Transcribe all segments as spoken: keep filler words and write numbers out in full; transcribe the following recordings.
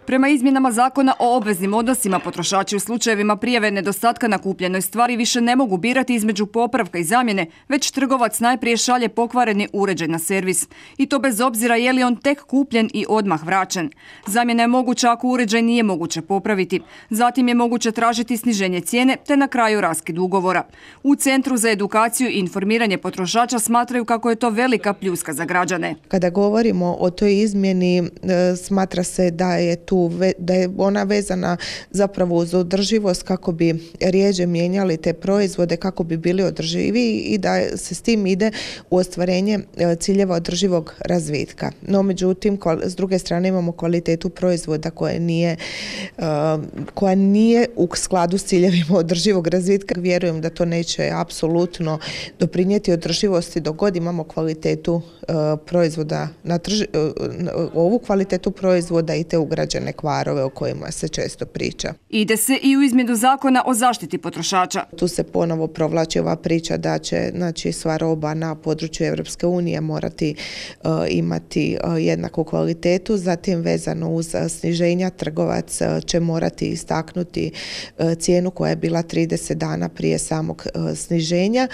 Prema izmjenama zakona o obveznim odnosima, potrošači u slučajevima prijave nedostatka na kupljenoj stvari više ne mogu birati između popravka i zamjene, već trgovac najprije šalje pokvareni uređaj na servis. I to bez obzira je li on tek kupljen i odmah vraćen. Zamjena je moguća ako uređaj nije moguće popraviti. Zatim je moguće tražiti sniženje cijene te na kraju raskid ugovora. U Centru za edukaciju i informiranje potrošača smatraju kako je to velika pljuska za građane. Kada govorimo o toj izmjeni, smatra se da je tu da je ona vezana zapravo uz održivost kako bi rjeđe mijenjali te proizvode kako bi bili održiviji i da se s tim ide u ostvarenje ciljeva održivog razvitka. No međutim, s druge strane imamo kvalitetu proizvoda koja nije, koja nije u skladu s ciljevima održivog razvitka. Vjerujem da to neće apsolutno doprinijeti održivosti dok god imamo kvalitetu proizvoda, na trži, ovu kvalitetu proizvoda i te ugrađene kvarove o kojima se često priča. Ide se i u izmjenu zakona o zaštiti potrošača. Tu se ponovo provlači ova priča da će znači, sva roba na području Europske unije morati uh, imati uh, jednaku kvalitetu. Zatim vezano uz uh, sniženja trgovac uh, će morati istaknuti uh, cijenu koja je bila trideset dana prije samog uh, sniženja.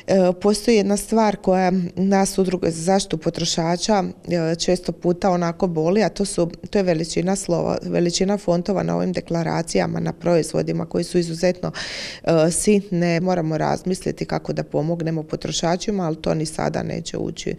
Uh, postoji jedna stvar koja nas udruge za zaštitu potrošača uh, često puta onako boli, a to, su, to je veličina slova, veličina fontova na ovim deklaracijama, na proizvodima koji su izuzetno uh, sitne. Moramo razmisliti kako da pomognemo potrošačima, ali to ni sada neće ući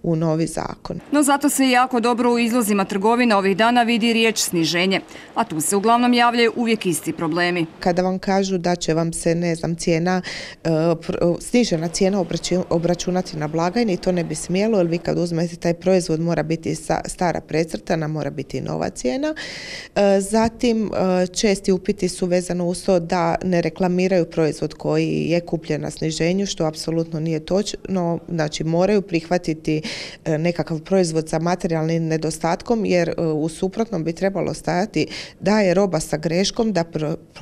u novi zakon. No zato se jako dobro u izlozima trgovina ovih dana vidi riječ sniženje, a tu se uglavnom javljaju uvijek isti problemi. Kada vam kažu da će vam se, ne znam, cijena, uh, snižena cijena obračunati na blagajni, to ne bi smjelo, jer vi kad uzmete taj proizvod mora biti stara precrtana, mora biti nova cijena. Zatim, česti upiti su vezano uz to da ne reklamiraju proizvod koji je kupljen na sniženju, što apsolutno nije točno. Znači, moraju prihvatiti nekakav proizvod sa materijalnim nedostatkom, jer u suprotnom bi trebalo stajati da je roba sa greškom, da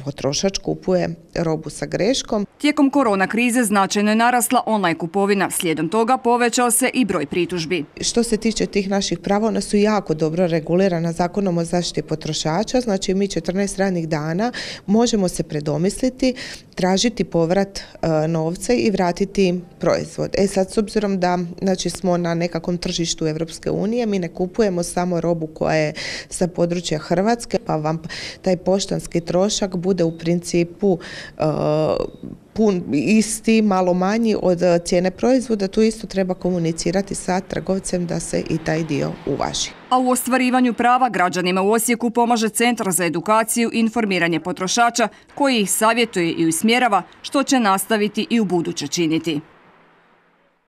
potrošač kupuje robu sa greškom. Tijekom korona krize značajno je narasla online kupovina. Slijedom toga povećao se i broj pritužbi. Što se tiče tih naših prava, ona su jako dobro regulirana Zakonom o zaštiti potrošača. Znači, mi četrnaest radnih dana možemo se predomisliti, tražiti povrat e, novca i vratiti proizvod. E sad, s obzirom da znači, smo na nekakvom tržištu Europske unije, mi ne kupujemo samo robu koja je sa područja Hrvatske, pa vam taj poštanski trošak bude u principu e, pun, isti, malo manji od cijene proizvoda. Tu isto treba komunicirati sa trgovcem da se i taj dio uvaži. A u ostvarivanju prava građanima u Osijeku pomaže Centar za edukaciju i informiranje potrošača koji ih savjetuje i usmjerava, što će nastaviti i u buduće činiti.